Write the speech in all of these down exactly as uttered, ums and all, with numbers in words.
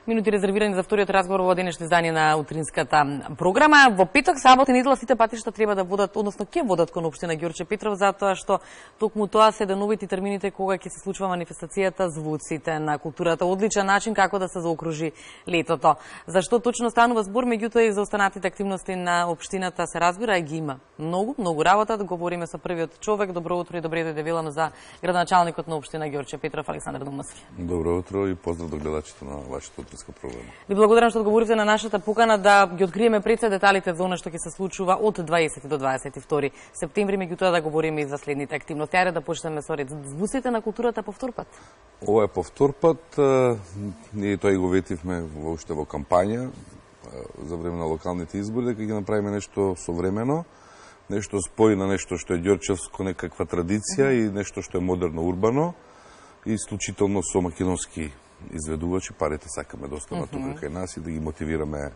Минути резервирани за вториот разговор во денешното издание на утринската програма. Во петок, сабота и недела сите патишта треба да водат, односно ќе водат кон општина Ѓорче Петров, затоа што токму тоа се деновите термините кога ќе се случува манифестацијата Звуците на културата. Одличен начин како да се заокружи летото. Зашто точно станува збор, меѓутоа и за останатите активности на општината се разбира, ги има многу, многу работа. Да говориме со првиот човек. Добро утро и добре дојде велам за градоначалникот на општина Ѓорче Петров, Александар Думовски. Добро утро и поздрав до гледачите на вашата утринска програма. Ви благодарам што одговоривте на нашата покана да ги откриеме пред се деталите за она што ќе се случува од дваесети до дваесет и втори септември, меѓутоа да говориме и за следните активности. Ајде да почнеме со ред. Звуците на културата повтор пат. Ова е повтор пат. Ние тој го ветивме воопште во кампања за време на локалните избори, дека ќе направиме нешто современо, нешто спои на нешто што е ѓорчевско, некаква традиција и нешто што е модерно, урбано и исклучително со македонски изведувачи. Парите сакаме да останат тука кај нас и да ги мотивираме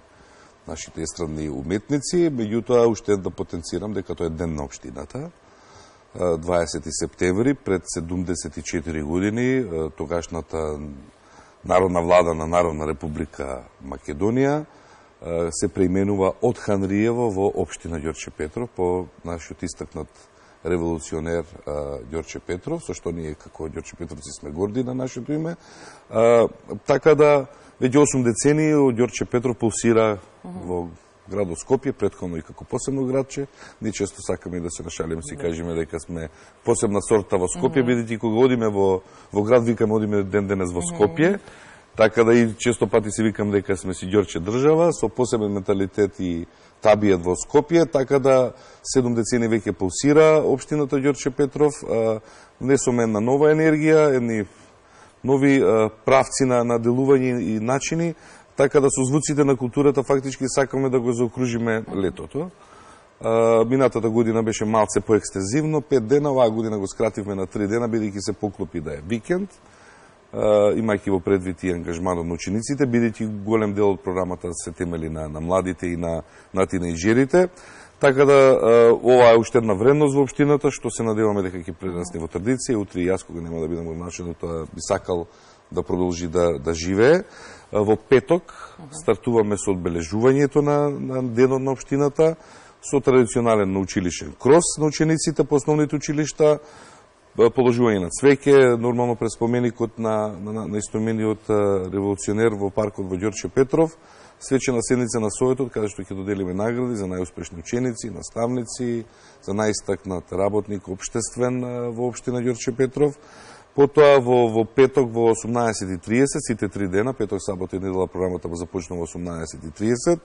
нашите естрадни уметници. Меѓутоа, уште да потенцирам дека тоа е ден на општината. дваесети септември, пред седумдесет и четири години, тогашната Народна влада на Народна република Македонија се преименува од Ханриево во општина Ѓорче Петров по нашиот истакнат револуционер Ѓорче Петров, со што ние како Ѓорче Петровци сме горди на нашето име. А, така да, веќе осум децении Ѓорче Петров пулсира uh -huh. во градот Скопје, претходно и како посебно градче. Ние често сакаме да се нашалиме, си кажеме дека сме посебна сорта во Скопје, uh -huh. бидејќи кога одиме во, во град, викаме одиме ден денес во Скопје. Uh -huh. Така да и често пати си викам дека сме си Ѓорче држава, со посебен менталитет и табијат во Скопје, така да седум децени веќе пулсира општината Ѓорче Петров. Внесоме една нова енергија, едни нови правци на, на делување и начини, така да со звуците на културата фактички сакаме да го заокружиме летото. Минатата година беше малце поекстензивно, пет дена, оваа година го скративме на три дена, бидејќи се поклопи да е викенд, имајќи во предвид и ангажманот на учениците, бидејќи голем дел од програмата се темели на, на младите и на, на тинејџерите. Така да, ова е уште една вредност во општината, што се надеваме дека ќе прерасне во традиција. Утре и јас, кога нема да бидам во начинот, би сакал да продолжи да, да живее. Во петок стартуваме со одбележувањето на, на денот на општината, со традиционален научилишен крос на учениците по основните училишта, положување на цвеќе, нормално пред споменикот на, на, на истомениот револуционер во паркот во Ѓорче Петров, свечена седница на Советот, каде што ќе доделиме награди за најуспешни ученици, наставници, за најистакнат работник општествен во општина Ѓорче Петров. Потоа во, во петок во осумнаесет и триесет, сите три дена, петок, сабота и недела, програмата започнува во осумнаесет и триесет.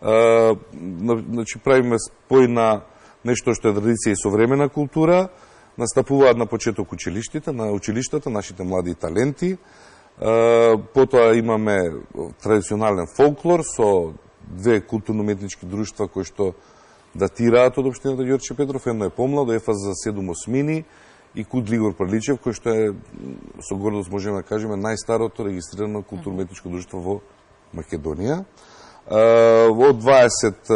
Значи, правиме спој на нешто што е традиција и современа култура. Настапуваат на почеток училиштите, на училиштата, нашите млади таленти. Потоа имаме традиционален фолклор со две културно-уметнички друштва кои што датираат од општината Ѓорче Петров. Едно е помладо, ефа за седум осмини, и Куд Лигор Прличев, кој што е, со гордост можеме да кажеме, најстарото регистрирано културно-уметничко друштво во Македонија. Во дваесет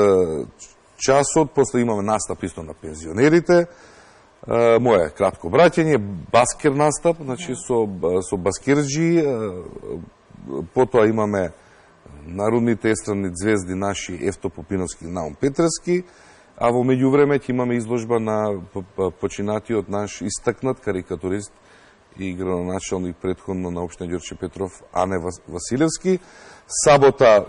часот, после имаме настап исто на пензионерите. Моје кратко браќање, баскер настап, значи со, со баскерџи. Потоа имаме народните естрадни звезди наши Евто Попиновски и Наум Петрески, а во меѓувреме ќе имаме изложба на починатиот наш истакнат карикатурист и градоначалник претходно на општина Ѓорче Петров Ане Василевски. Сабота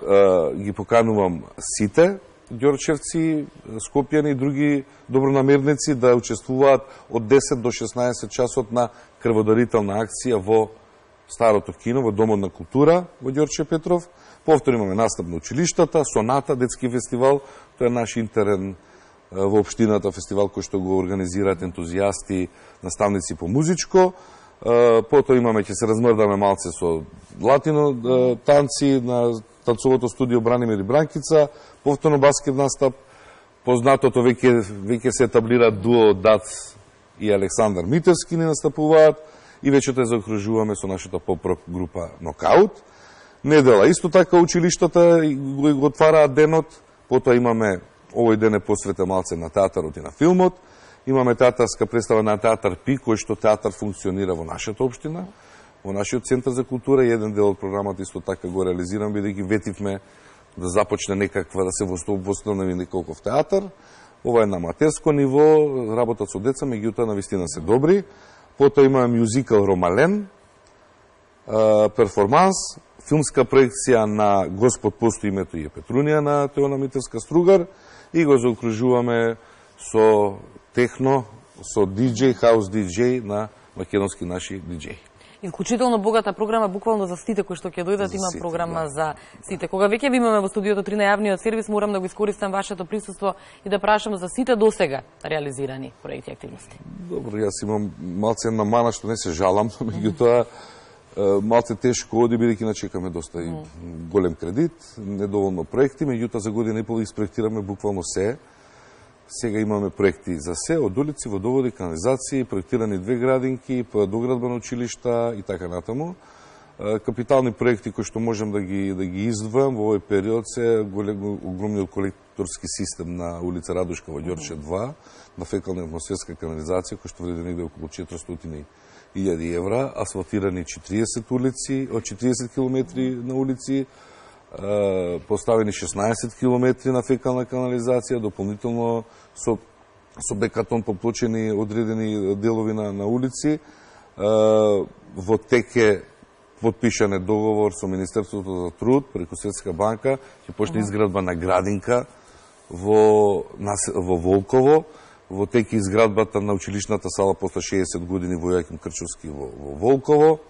ги поканувам сите ѓорчевци, скопјани и други добронамерници да учествуваат од десет до шеснаесет часот на крводарителна акција во Старото кино, во Домот на култура во Ѓорче Петров. Повторно имаме настап на училиштата, Соната, детски фестивал, тоа е наш интерен во општината фестивал кој што го организираат ентузијасти, наставници по музичко. Потоа имаме, ќе се размрдаме малце со латино танци на танцовото студио Бранимир и Бранкица, повторно баскет настап, познатото веќе веќе се етаблира дуо Дац и Александар Митевски ни настапуваат и вечерта заокружуваме со нашата поп-рок група Нокаут. Недела исто така училиштата го, го отвараат денот, потоа имаме, овој ден е посветен малце на театарот и на филмот. Имаме театарска представа на театар Пи, кој што театар функционира во нашата општина. во нашиот центар за култура, еден дел од програмата исто така го реализирам, бидејќи ветивме да започне некаква, да се восстанови неколков театар. Ова е на аматерско ниво, работат со деца, меѓутоа навистина се добри. Потоа имаме мюзикал Ромален, перформанс, филмска проекција на Господ постои, името и е Петрунија на Теона Митерска Стругар и го заокружуваме со техно, со диџеј, хаус диџеј на македонски наши диџеи. Исклучително богата програма, буквално за сите кои што ќе дојдат, има сите, програма да. за сите. Кога веќе ви имаме во студиото три на јавниот сервис, морам да го искористам вашето присуство и да прашам за сите досега реализирани проекти и активности. Добро, јас имам малце една мана што не се жалам, меѓутоа малце тешко оди, бидејќи начекаме доста и голем кредит, недоволно проекти, меѓутоа за година и пол испроектираме буквално се. Сега имаме проекти за се, од улици, водоводи, канализации, проектирани две градинки, доградба на училишта и така натаму. Капитални проекти кои што можам да ги, да ги издвојам во овој период се огромниот колекторски систем на улица Радушка во Ѓорче два, на фекална атмосферска канализација, кој што вреди негде околу четиристотини илјади евра, асфалтирани четириесет улици, од четириесет километри на улици, поставени шеснаесет километри на фекална канализација, дополнително со, со бекатон поплочени одредени делови на, на улици. Во теке подпишан е договор со Министерството за труд преку Светска банка, ќе почне изградба на градинка во, во Волково, во теке изградбата на училишната сала после шеесет години во Јоаким Крчовски во, во Волково.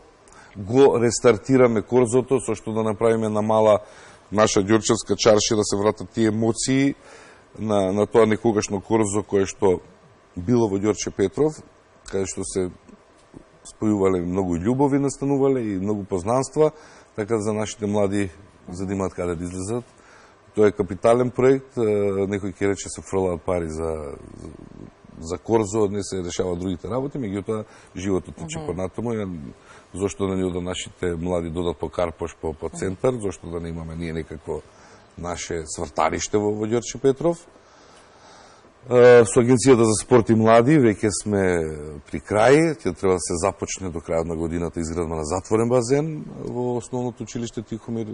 Го рестартираме корзото, со што да направиме на мала наша ѓорчевска чаршија, да се вратат тие емоции на, на тоа некогашно корзо кое што било во Ѓорче Петров, каде што се спојувале многу љубови настанувале и многу познанства, така за нашите млади, за да имаат каде да излезат. Тоа е капитален проект, некој ќе рече се фрлаат пари за, за корзо, не се решаваат другите работи, меѓутоа животот тече mm -hmm. понатаму. Зошто да ни да нашите млади додат по Карпош, по, по центар, зошто да не имаме ние некакво наше сврталиште во, во Ѓорче Петров. Со Агенцијата за спорт и млади веќе сме при крај, ќе треба да се започне до крајот на годината изградба на затворен базен во основното училиште Тихомир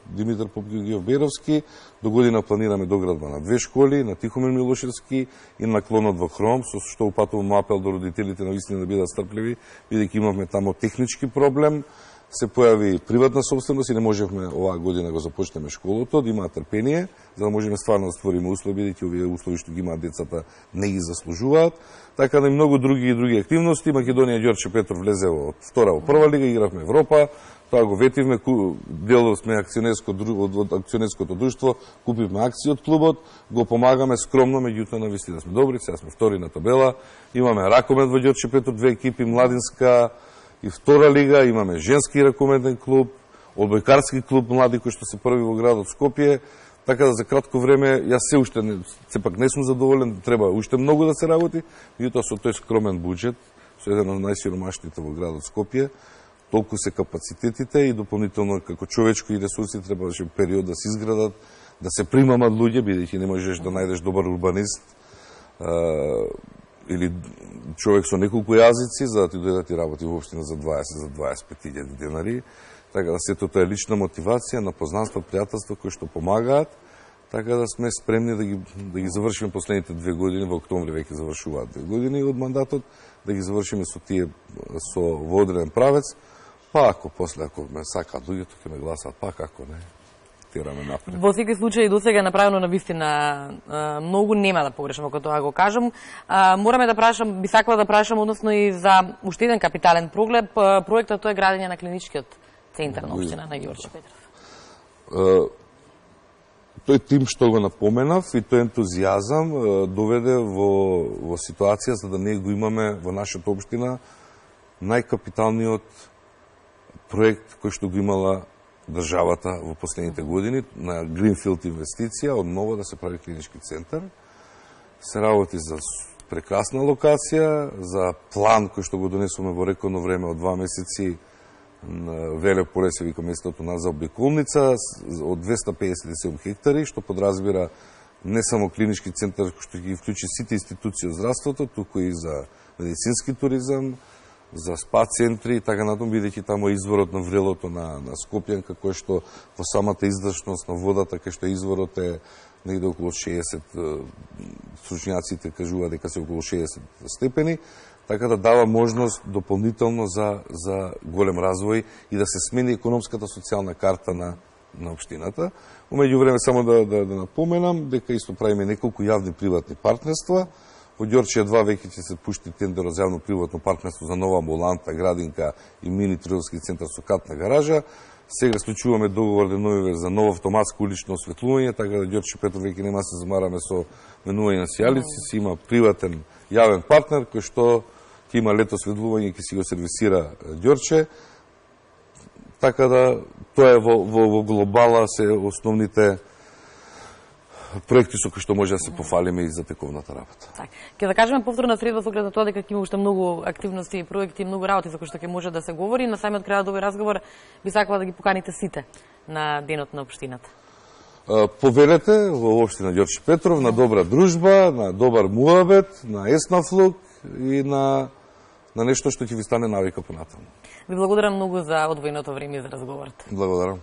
Димитар Попгиов-Беровски. До година планираме доградба на две школи, на Тихомир Милошевски и на клонот во Хром, со што упатувам апел до родителите на вистина да бидат стрпливи, бидејќи имавме тамо технички проблем. Се појави приватна собственост и не можевме оваа година да го започнеме школото, да имаат трпение, за да можеме стварно да створиме услови, бидејќи овие услови што ги имаат децата не ги заслужуваат. Така да и многу други и други активности. Македонија Ѓорче Петров влезе од втора во прва лига, игравме Европа, тоа го ветивме, дел сме акционерско, од акционерското друштво, купивме акции од клубот, го помагаме скромно, меѓутоа на вистина сме добри, сега сме втори на табела, имаме ракомет во Ѓорче Петров, две екипи, младинска и втора лига, имаме женски ракометен клуб, одбојкарски клуб млади кои што се први во градот Скопје, така да за кратко време јас се уште не, сепак не сум задоволен, треба уште многу да се работи, меѓутоа со тој скромен буџет, со еден од најсиромашните во градот Скопје, толку се капацитетите и дополнително како човечки ресурси требаше период да се изградат, да се примамат луѓе, бидејќи не можеш да најдеш добар урбанист или човек со неколку јазици, за да ти дојдат и работи воопштина за дваесет, за дваесет и пет илјади денари. Така да сето тоа е лична мотивација на познанства, пријателства кои што помагаат, така да сме спремни да ги, да ги завршиме последните две години, во октомври веќе завршуваат две години од мандатот, да ги завршиме со тие со водреден правец, па ако после, ако ме сакаат луѓето, ќе ме гласаат, па како не. Напред. Во секој случај до сега е направено на вистина многу, нема да погрешам ако тоа го кажам. Мораме да прашам, би сакала да прашам односно и за уште еден капитален проглед, проектот тоа е градење на клиничкиот центар на општина на Ѓорче Петров. Тој тим што го напоменав и тој ентузијазам доведе во, во ситуација за да ние го имаме во нашата општина најкапиталниот проект кој што го имала државата во последните години на Гринфилд инвестиција, од ново да се прави клинички центар. Се работи за прекрасна локација, за план кој што го донесуваме во рекордно време од два месеци на Веле поле, се вика местото на заобиколница, од двесте педесет и седум хектари, што подразбира не само клинички центар, што ќе ги вклучи сите институции од здравството, туку и за медицински туризам, за спа центри и така натаму, бидејќи таму е изворот на врелото на, на Скопјанка, кој што во самата издашност на водата, кај што изворот е негде околу шеесет, стручњаците кажуваат дека се околу шеесет степени, така да дава можност дополнително за, за голем развој и да се смени економската социјална карта на, на општината. У меѓувреме само да, да, да напоменам дека исто правиме неколку јавни приватни партнерства. Во Ѓорче два веќе ќе се пушти тендер за јавно-приватно партнерство за нова амбуланта, градинка и мини трговски центар со катна гаража. Сега склучуваме договор деновиве за ново автоматско улично осветлување, така да Ѓорче Петров веќе нема се замараме со менување на сијалици, си има приватен јавен партнер кој што ќе има лето осветлување и ќе си го сервисира Ѓорче. Така да тоа е во, во, во глобала се основните проекти со кои што може да се пофалиме и за тековната работа. Так. Ке да кажеме повторна среда со оглед на тоа дека ќе има уште многу активности и проекти, многу работи за кои што ќе може да се говори. На самиот крај од овој разговор би сакала да ги поканите сите на денот на општината. Повелете во општина Ѓорче Петров на добра дружба, на добар муабет, на еснафлук и на на нешто што ќе ви стане навика понатаму. Ви благодарам многу за одвоеното време за разговорот. Благодарам.